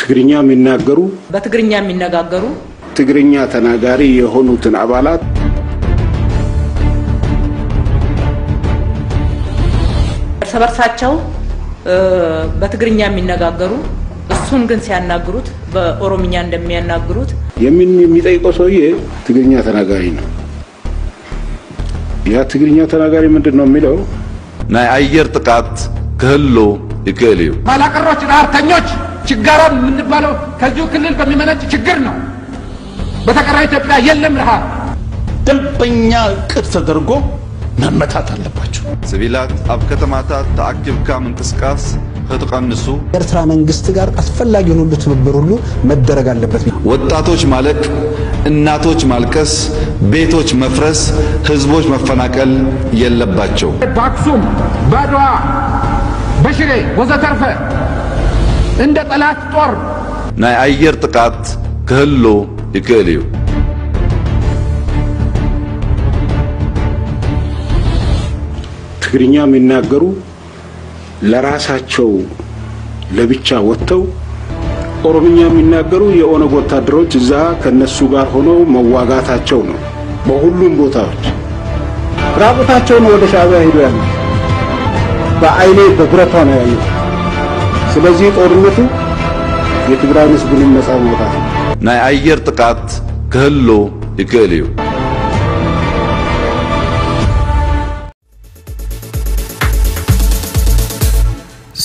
ትግርኛ የሚናገሩ በትግርኛ የሚነጋገሩ ትግርኛ ተናጋሪ የሆኑትን አባላት እርስ በርሳቸው በትግርኛ የሚነጋገሩ፣ እሱን ግን ሲያናግሩት በኦሮምኛ እንደሚያናግሩት የምን የሚጠይቀው ሰውዬ ትግርኛ ተናጋሪ ነው። ያ ትግርኛ ተናጋሪ ምንድን ነው የሚለው? ናይ ኣየር ጥቃት ክህሉ ይክእል እዩ። ፋላቀሮች፣ ረሃብተኞች፣ ችጋራም የምንባለው ከዚሁ ክልል በሚመነጭ ችግር ነው። በተቀረው ኢትዮጵያ የለም ረሃብ። ደንበኛ እቅድ ተደርጎ መመታት አለባቸው። ስቪላት ኣብ ከተማታት ተኣኪብካ ምንቅስቃስ ክትቐንሱ ኤርትራ መንግስት ጋር አስፈላጊውን ሁሉ ትብብር ሁሉ መደረግ አለበት። ወጣቶች ማለቅ፣ እናቶች ማልቀስ፣ ቤቶች መፍረስ፣ ህዝቦች መፈናቀል የለባቸው። በአክሱም፣ በአድዋ፣ በሽሬ ወዘተርፈ እንደ ጠላት ጦር ናይ ኣየር ጥቃት ክህሉ ይክእል እዩ። ትግርኛ የሚናገሩ ለራሳቸው ለብቻ ወጥተው ኦሮምኛ የሚናገሩ የኦነግ ወታደሮች እዛ ከነሱ ጋር ሆነው መዋጋታቸው ነው። በሁሉም ቦታዎች ራቁታቸውን ወደ ሻዕቢያ ሄዱ ያሉ በአይኔ በብረቷ ነው ያየሁት። ስለዚህ ጦርነቱ የትግራይን ህዝብንም ነፃ መውጣት ነው። ናይ ኣየር ጥቃት ክህሉ ይክእል እዩ።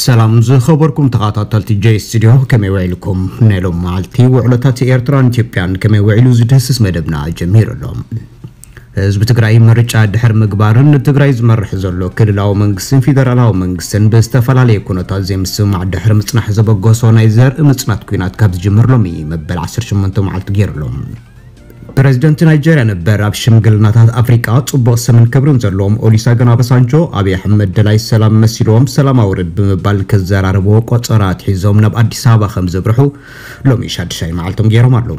ሰላም ዝኸበርኩም ተኸታተልቲ ጀይ ስቱዲዮ፣ ከመይ ውዒልኩም? ናይ ሎም መዓልቲ ውዕሎታት ኤርትራን ኢትዮጵያን ከመይ ውዒሉ ዝድህስስ መደብና ጀሚሩ ኣሎ። ህዝቢ ትግራይ ምርጫ ድሕር ምግባርን ንትግራይ ዝመርሕ ዘሎ ክልላዊ መንግስትን ፌደራላዊ መንግስትን ብዝተፈላለየ ኩነታት ዘይምስምማዕ ድሕሪ ምጽናሕ ዘበገሶ ናይ ዘርኢ ምጽናት ኲናት ካብ ዝጅምር ሎሚ መበል ዓሰርተ ሸሞንተ መዓልቲ ገይሩ ኣሎ። ፕረዚደንት ናይጀርያ ነበር ኣብ ሽምግልናታት ኣፍሪቃ ጽቡቕ ስምን ክብርን ዘለዎም ኦሊሳገን ኣበሳንጆ፣ ኣብይ ኣሕመድ ደላይ ሰላም መሲልዎም ሰላም ኣውርድ ብምባል ክዘራረብዎ ቆጸራ ኣትሒዞም ናብ ኣዲስ ኣበባ ከም ዘብርሑ ሎሚ ሻድሻይ መዓልቶም ገይሮም ኣለዉ።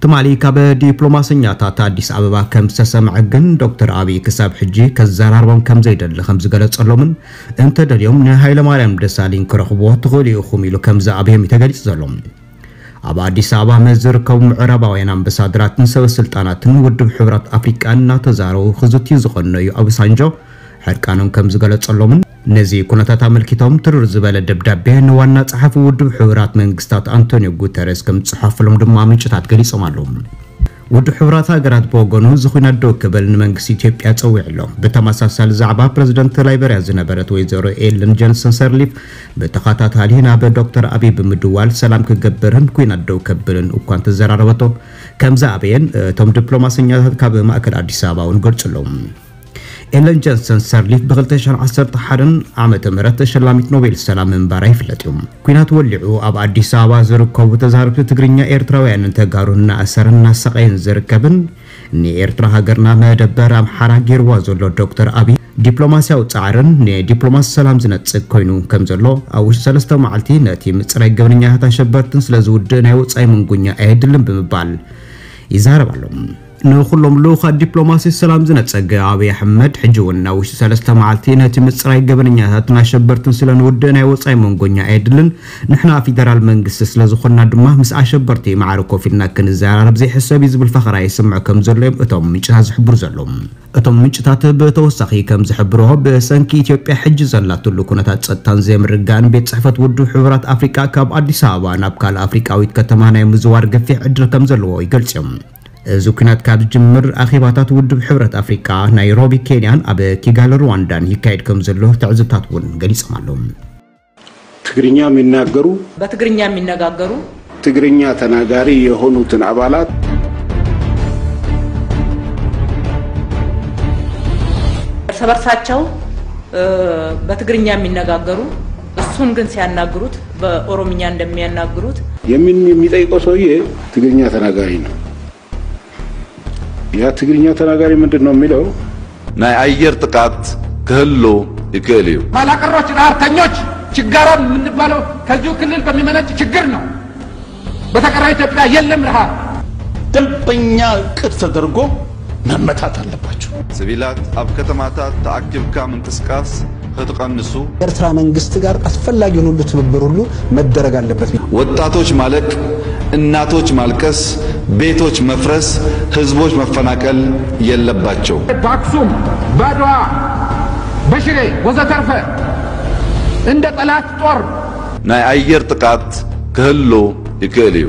ትማሊ ካብ ዲፕሎማሰኛታት ኣዲስ ኣበባ ከም ዝተሰምዐ ግን ዶክተር ኣብይ ክሳብ ሕጂ ከዘራርቦም ከም ዘይደሊ ከም ዝገለጸሎምን እንተደልዮም ንሃይለማርያም ደሳለኝ ክረኽብዎ ትኽእሉ ኢኹም ኢሉ ከም ዝኣብዮም እዩ ተገሊጹ ዘሎ። ኣብ ኣዲስ ኣበባ ምስ ዝርከቡ ምዕራባውያን ኣምባሳደራትን ሰበ ስልጣናትን ውድብ ሕቡራት ኣፍሪቃ እናተዛረቡ ክዝትዩ ዝቐነዩ ኣበሳንጆ ሕርቃኖም ከም ዝገለጸሎምን ነዚ ኩነታት ኣመልኪቶም ትርር ዝበለ ደብዳቤ ንዋና ጸሓፊ ውድብ ሕቡራት መንግስታት ኣንቶኒዮ ጉተረስ ከም ዝጽሓፍሎም ድማ ምንጭታት ገሊጾም ኣለዉ። ውድብ ሕቡራት ሃገራት ብወገኑ እዚ ኲናት ደው ክብል ንመንግስቲ ኢትዮጵያ ጸዊዑ ኣሎ። ብተመሳሳሊ ዛዕባ ፕረዚደንት ላይበርያ ዝነበረት ወይዘሮ ኤለን ጆንሰን ሰርሊፍ ብተኸታታሊ ናብ ዶክተር ኣብይ ብምድዋል ሰላም ክገብርን ኲናት ደው ከብልን እኳ እንተዘራረበቶ ከም ዝኣበየን እቶም ዲፕሎማሰኛታት ካብ ማእከል ኣዲስ ኣበባ እውን ገልጹ ኣለዉ። ኤለን ጆንሰን ሰርሊፍ ብ2011 ዓመተ ምህረት ተሸላሚት ኖቤል ሰላም ምንባራ ይፍለጥ እዩ። ኲናት ወሊዑ ኣብ ኣዲስ ኣበባ ዝርከቡ ተዛረብቲ ትግርኛ ኤርትራውያንን ተጋሩን እናኣሰረን እናሰቐየን ዝርከብን ንኤርትራ ሃገርና መደበር ኣምሓራ ገይርዋ ዘሎ ዶክተር ኣብይ ዲፕሎማስያዊ ጻዕርን ንዲፕሎማሲ ሰላም ዝነጽግ ኮይኑ ከም ዘሎ ኣብ ውሽጢ ሰለስተ መዓልቲ ነቲ ምጽራይ ገበነኛታት ኣሸበርትን ስለ ዝውድእ ናይ ወጻኢ መንጎኛ ኣየድልን ብምባል ይዛረብ ኣሎ። ንኹሎም ልኡኻት ዲፕሎማሲ ሰላም ዝነጸገ ኣብይ ኣሕመድ ሕጂ እውን ኣብ ውሽጢ ሰለስተ መዓልቲ ነቲ ምጽራይ ገበነኛታትን ኣሸበርትን ስለ ንውድእ ናይ ወጻኢ መንጎኛ ኣየድልን፣ ንሕና ፌደራል መንግስቲ ስለ ዝኾንና ድማ ምስ ኣሸበርቲ ማዕረ ኮፍ ኢልና ክንዘራረብ ዘይሕሰብ እዩ ዝብል ፈኸራ ይስምዖ ከም ዘሎ እዮም እቶም ምንጭታት ዝሕብሩ ዘለዉ። እቶም ምንጭታት ብተወሳኺ ከም ዝሕብርዎ ብሰንኪ ኢትዮጵያ ሕጂ ዘላትሉ ኩነታት ጸጥታን ዘይምርግጋእን ቤት ጽሕፈት ውድብ ሕቡራት ኣፍሪቃ ካብ ኣዲስ ኣበባ ናብ ካልእ ኣፍሪቃዊት ከተማ ናይ ምዝዋር ገፊሕ ዕድል ከም ዘለዎ ይገልጽ እዮም። እዚ ኲናት ካብ ዝጅምር ኣኼባታት ውድብ ሕብረት ኣፍሪቃ ናይሮቢ ኬንያን ኣብ ኪጋሊ ሩዋንዳን ይካየድ ከም ዘሎ ትዕዝብታት እውን ገሊጾም ኣለዉ። ትግርኛ የሚናገሩ በትግርኛ የሚነጋገሩ ትግርኛ ተናጋሪ የሆኑትን አባላት እርስ በርሳቸው በትግርኛ የሚነጋገሩ እሱን ግን ሲያናግሩት በኦሮምኛ እንደሚያናግሩት የምን የሚጠይቀው ሰውዬ ትግርኛ ተናጋሪ ነው። ያ ትግርኛ ተናጋሪ ምንድን ነው የሚለው? ናይ ኣየር ጥቃት ክህሉ ይክእል እዩ። ፋላቀሮች፣ ረሃብተኞች፣ ችጋራም የምንባለው ከዚሁ ክልል በሚመነጭ ችግር ነው። በተቀረው ኢትዮጵያ የለም ረሃብ። ደንበኛ እቅድ ተደርጎ መመታት አለባቸው። ስቪላት ኣብ ከተማታት ተኣኪብካ ምንቅስቃስ ክትቐንሱ ኤርትራ መንግስቲ ጋር አስፈላጊውን ሁሉ ትብብር ሁሉ መደረግ አለበት። ወጣቶች ማለቅ፣ እናቶች ማልቀስ፣ ቤቶች መፍረስ፣ ህዝቦች መፈናቀል የለባቸው። በአክሱም፣ በአድዋ፣ በሽሬ ወዘተርፈ እንደ ጠላት ጦር ናይ ኣየር ጥቃት ክህሉ ይክእል እዩ።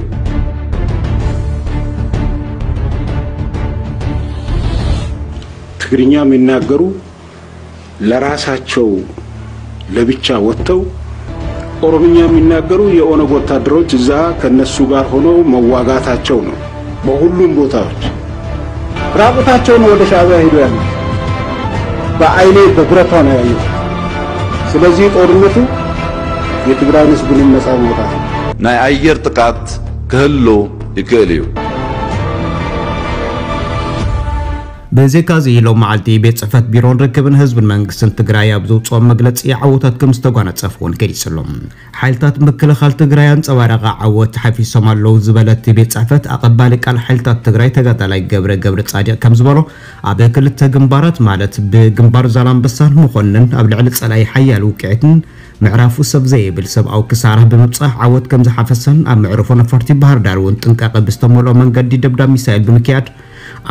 ትግርኛ የሚናገሩ ለራሳቸው ለብቻ ወጥተው ኦሮምኛ የሚናገሩ የኦነግ ወታደሮች እዛ ከነሱ ጋር ሆነው መዋጋታቸው ነው። በሁሉም ቦታዎች ራቁታቸው ነው ወደ ሻዕቢያ ሄዶ ያሉ። በአይኔ በብረቷ ነው ያየሁት። ስለዚህ ጦርነቱ የትግራይን ህዝብንም ነጻ ማውጣት ነው። ናይ ኣየር ጥቃት ክህሉ ይክእል እዩ። ብዘይካዚ ሎም መዓልቲ ቤት ጽሕፈት ቢሮን ርክብን ህዝብን መንግስትን ትግራይ ኣብ ዘውፅኦ መግለፂ ዓወታት ከም ዝተጓናፀፉ እውን ገሊጹ ኣሎ። ሓይልታት ምክልኻል ትግራይ ኣንፀባረቐ ዓወት ሓፊሶም ኣለዉ ዝበለ እቲ ቤት ጽሕፈት ኣቐባሊ ቃል ሓይልታት ትግራይ ተጋዳላይ ገብረ ገብረ ጻድቕ ከም ዝበሎ ኣብ ክልተ ግንባራት ማለት ብግንባር ዛላምበሳን መኮንን ኣብ ልዕሊ ጸላኢ ሓያል ውቅዒትን ምዕራፉ ሰብ ዘይብል ሰብኣዊ ክሳራ ብምብጻሕ ዓወት ከም ዝሓፈሰን ኣብ መዕርፎ ነፈርቲ ባህር ዳር እውን ጥንቃቐ ብዝተመልኦ መንገዲ ደብዳብ ሚሳይል ብምክያድ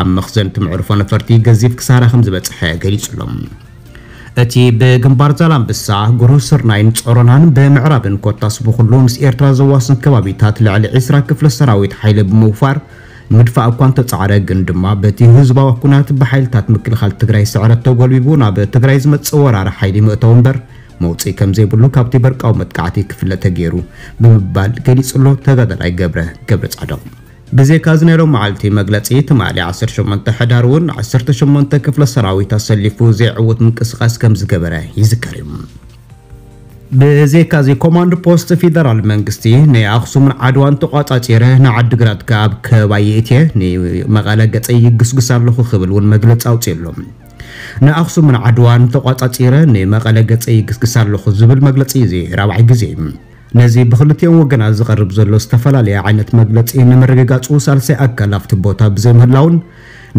ኣብ መኽዘን እቲ መዕርፎ ነፈርቲ ገዚፍ ክሳራ ከም ዝበጽሐ ገሊጹ ኣሎ። እቲ ብግንባር ዛላምበሳ፣ ጉሩህ ስርናይን ጾሮናን ብምዕራብን ኮታስ ብኹሉ ምስ ኤርትራ ዘዋስን ከባቢታት ልዕሊ ዕስራ ክፍለ ሰራዊት ሓይሊ ብምውፋር ምድፋእ እኳ እንተጻዕረ ግን ድማ በቲ ህዝባዊ ኩናት ብሓይልታት ምክልኻል ትግራይ ስዕረት ተጎልቢቡ ናብ ትግራይ ዝመጽእ ወራሪ ሓይሊ ምእተው እምበር መውፅኢ ከም ዘይብሉ ካብቲ በርቃዊ መጥቃዕቲ ክፍለ ተገይሩ ብምባል ገሊጹ ኣሎ ተጋዳላይ ገብረ ገብረ ጻድቕ። ብዘይካ እዚ ናይ ሎም መዓልቲ መግለፂ ትማሊ ዓሰርተ ሸሞንተ ሕዳር እውን ዓሰርተ ሸሞንተ ክፍለ ሰራዊት ኣሰሊፉ ዘይዕውት ምንቅስቃስ ከም ዝገበረ ይዝከር እዩ። ብዘይካዚ ኮማንድ ፖስት ፌደራል መንግስቲ ናይ ኣኽሱምን ዓድዋን ተቋጻጺረ ንዓድግራት ካብ ከባቢ እትየ ንመቐለ ገጸይ ይግስግስ ኣለኹ ክብል እውን መግለጺ ኣውፅኡ ኣሎ። ንኣኽሱምን ዓድዋን ተቋጻጺረ ንመቐለ ገጸይ ይግስግስ ኣለኹ ዝብል መግለጺ እዚ ራብዓይ ግዜ እዩ። ነዚ ብክልቲኦም ወገናት ዝቐርብ ዘሎ ዝተፈላለየ ዓይነት መግለጺ ንምርግጋጹ ሳልሳይ ኣካል ኣብቲ ቦታ ብዘይምህላውን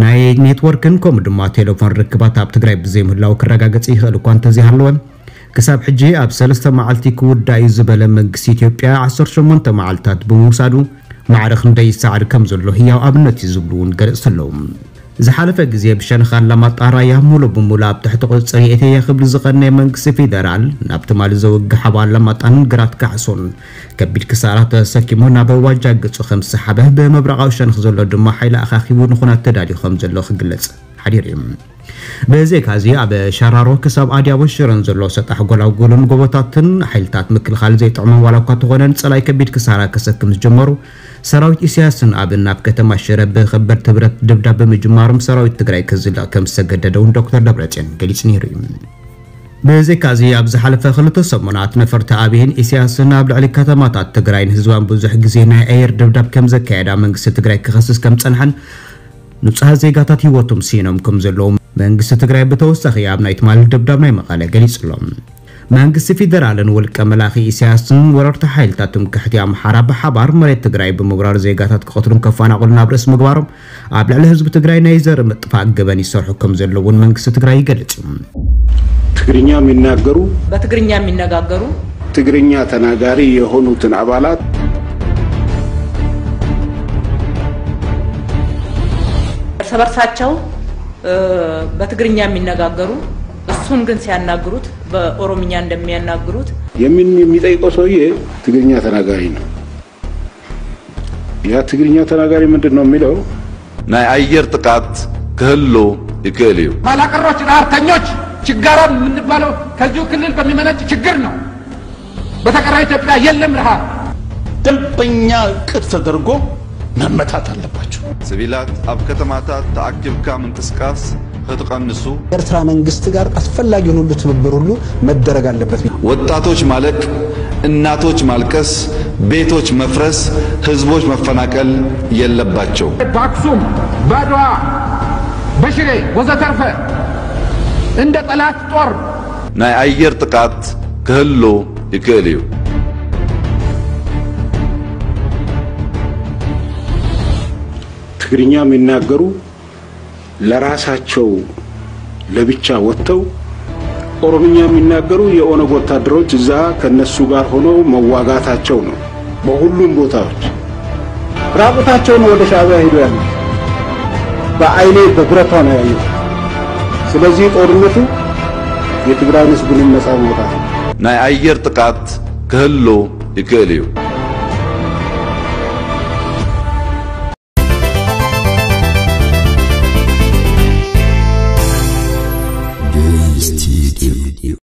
ናይ ኔትወርክን ከምኡ ድማ ቴሌፎን ርክባት ኣብ ትግራይ ብዘይምህላው ክረጋገጽ ይኽእል እኳ እንተዘይሃለወ ክሳብ ሕጂ ኣብ ሰለስተ መዓልቲ ክውዳእ እዩ ዝበለ መንግስቲ ኢትዮጵያ ዓሰርተ ሸሞንተ መዓልታት ብምውሳዱ ማዕረ ክንደይ ይሰዓር ከም ዘሎ ህያው ኣብነት እዩ ዝብሉ እውን ገለጽቲ ኣለዉ። ዝሓለፈ ግዜ ብሸነኽ ኣላማጣ ራያ ሙሉ ብሙሉ ኣብ ትሕቲ ቁፅፅር የእትየ ክብል ዝቐነየ መንግስቲ ፌደራል ናብ ትማሊ ዘውግሕ ኣብ ኣላማጣን ግራት ካሕሶን ከቢድ ክሳራ ተሰኪሙ ናብ ዋጃ ገፁ ከም ዝሰሓበ ብምብራቓዊ ሸነኽ ዘሎ ድማ ሓይሊ ኣኻኺቡ ንኹናት ተዳልዩ ከም ዘሎ ክግለፅ ሓዲሩ እዩ። ብዘይካዚ ኣብ ሸራሮ ክሳብ ኣድያቦ ሽረን ዘሎ ሰጣሕ ጎላጉልን ጎቦታትን ሓይልታት ምክልኻል ዘይጥዕሞም ዋላ እኳ ተኾነ ንጸላይ ከቢድ ክሳራ ከሰክም ዝጀመሩ ሰራዊት ኢሳያስን ኣብን ኣብ ከተማ ሽረ ብኸበድቲ ብረት ድብዳብ ብምጅማሮም ሰራዊት ትግራይ ክዝለቕ ከም ዝተገደደ እውን ዶክተር ደብረጽዮን ገሊጹ ነይሩ እዩ። ብዘይካዚ ኣብ ዝሓለፈ ክልተ ሰሙናት ነፈርቲ ኣብይን ኢሳያስን ኣብ ልዕሊ ከተማታት ትግራይን ህዝባን ብዙሕ ግዜ ናይ ኣየር ድብዳብ ከም ዘካየዳ መንግስቲ ትግራይ ክኸስስ ከም ጸንሐን ንጹሃት ዜጋታት ህይወቶም ስኢኖም ከም ዘለዉ መንግስቲ ትግራይ ብተወሳኺ ኣብ ናይ ትማሊ ደብዳብ ናይ መቐለ ገሊጹ ኣሎ። መንግስቲ ፌደራልን ውልቀ መላኺ ኢሳያስን ወረርቲ ሓይልታት ትምክሕቲ ኣምሓራ ብሓባር መሬት ትግራይ ብምውራር ዜጋታት ክቐትሉን ከፈናቕሉን ኣብ ርእሲ ምግባሮም ኣብ ልዕሊ ህዝቢ ትግራይ ናይ ዘር ምጥፋእ ገበን ይሰርሑ ከም ዘለዉ እውን መንግስቲ ትግራይ ይገልጽ እዩ። ትግርኛ የሚናገሩ በትግርኛ የሚነጋገሩ ትግርኛ ተናጋሪ የሆኑትን አባላት እርስ በርሳቸው በትግርኛ የሚነጋገሩ እሱን ግን ሲያናግሩት በኦሮምኛ እንደሚያናግሩት የሚጠይቀው ሰውዬ ትግርኛ ተናጋሪ ነው። ያ ትግርኛ ተናጋሪ ምንድን ነው የሚለው? ናይ ኣየር ጥቃት ክህሉ ይክእል እዩ። ኋላቀሮች፣ ረሃብተኞች፣ ችጋራም የምንባለው ከዚሁ ክልል በሚመነጭ ችግር ነው። በተቀረው ኢትዮጵያ የለም ረሃብ። ደንበኛ እቅድ ተደርጎ መመታት ኣለባቸው። ስቪላት ኣብ ከተማታት ተኣኪብካ ምንቅስቃስ ክትቐንሱ ኤርትራ መንግስቲ ጋር አስፈላጊውን ሁሉ ትብብር ሁሉ መደረግ አለበት። ወጣቶች ማለቅ፣ እናቶች ማልቀስ፣ ቤቶች መፍረስ፣ ህዝቦች መፈናቀል የለባቸው። በአክሱም፣ በአድዋ፣ በሽሬ ወዘተርፈ እንደ ጠላት ጦር ናይ ኣየር ጥቃት ክህሉ ይክእል እዩ። ትግርኛ የሚናገሩ ለራሳቸው ለብቻ ወጥተው ኦሮምኛ የሚናገሩ የኦነግ ወታደሮች እዛ ከነሱ ጋር ሆነው መዋጋታቸው ነው። በሁሉም ቦታዎች ራቁታቸው ነው ወደ ሻዕቢያ ሄዶ ያሉት። በአይኔ በብረቷ ነው ያየሁት። ስለዚህ ጦርነቱ የትግራይን ህዝብንም ነፃ ማውጣት ነው። ናይ ኣየር ጥቃት ክህሉ ይክእል እዩ።